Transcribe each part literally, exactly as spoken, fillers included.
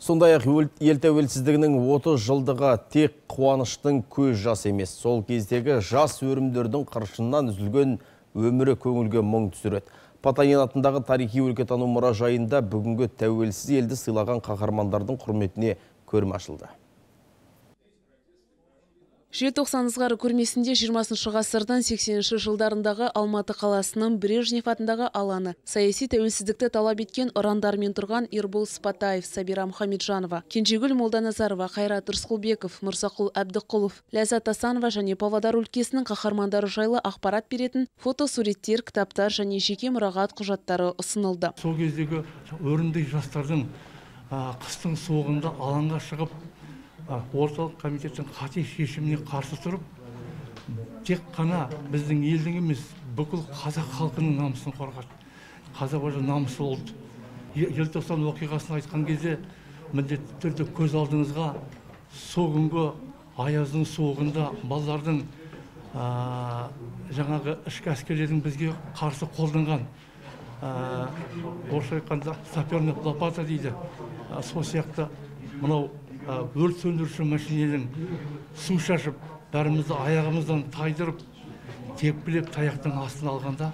Сондай-ақ ел тәуелсіздігінің отыз жылдығы тек қуаныштың көз жас емес. Сол кездегі жас өрімдердің қыршыннан үзілген өмірі көңілге мұң түсіреді. Потанин атындағы тарихи өлкетану мұражайында бүгінгі тәуелсіз елді сыйлаған қаһармандардың құрметіне көрме ашылды. Желтоқсан ызғары көрмесінде жиырмасыншы ғасырдың сексенінші жылдарындағы Алматы қаласының Брежнев атындағы алаңы. Саяси тәуелсіздікті талап еткен ұрандармен тұрған Ербол Сыпатаев, Сабира Мұхамеджанова, Кенжегүл Молданазарова, Қайрат Рысқұлбеков, Мұрсақұл Әбдіқұлов, Ләззат Асанова және Павлодар өлкесінің қаһармандары жайлы ақпарат беретін фотосуреттер, кітаптар және жеке мұрағат құжаттары ұсынылды. Сол кездегі өрімдей жастардың қыстың суығында алаңға шығып, орталық комитеттің қате шешіміне қарсы тұрып, тек қана біздің елдің емес, бүкіл қазақ халқының намысын қорғады. Қазақ өзі намысы болды. Желтоқсан оқиғасын айтқан кезде міндетті түрде көз алдыңызға сол күнгі аяздың суығында балалардың жаңағы ішкі әскерлердің бізге қарсы қолданған орысша айтқанда саперный лопата дейді. Сол сияқты мынау өрт сөндіруші машиненің су шашып, бәрімізді аяғымыздан тайдырып, тепкілеп таяқтың астына алғанда,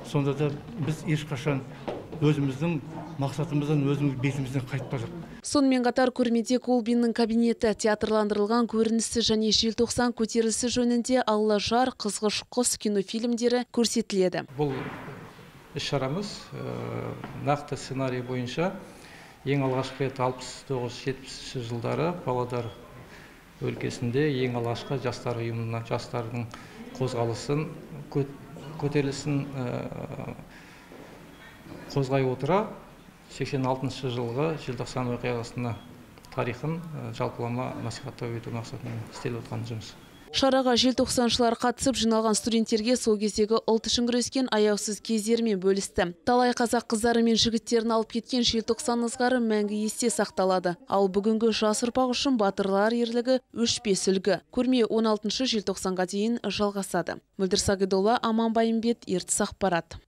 сонда да біз ешқашан өзіміздің мақсатымыздан өзіміз бетімізден қайтпадық. Сонымен қатар көрмеде Колбиннің кабинеті, театрландырылған көрінісі және желтоқсан көтерілісі жөнінде Алла жар, Қызғыш құс кинофильмдері көрсетіледі. Бұл іс-шарамыз нақты сценарий бойынша ең алғашқы рет алпыс тоғыз жетпісінші жылдары Павлодар өлкесінде ең алғашқы жастар ұйымына жастардың қозғалысын, көтерілісін қозғай отыра сексен алтыншы жылғы желтоқсан оқиғасына тарихын жалпылама насихаттау ету мақсатымен істеліп отқан жұмыс. Шараға желтоқсаншылар қатысып жиналған студенттерге сол кездегі ұлт үшін күрескен аяусыз кездермен бөлісті. Талай қазақ қыздары мен жігіттерін алып кеткен желтоқсан ызғары мәңгі есте сақталады. Ал бүгінгі жас ұрпақ үшін батырлар ерлігі өшпес үлгі. Көрме он алтыншы желтоқсанға дейін жалғасады. Мөлдір Сағидолла, Аман Байымбет, Ертіс ақпарат.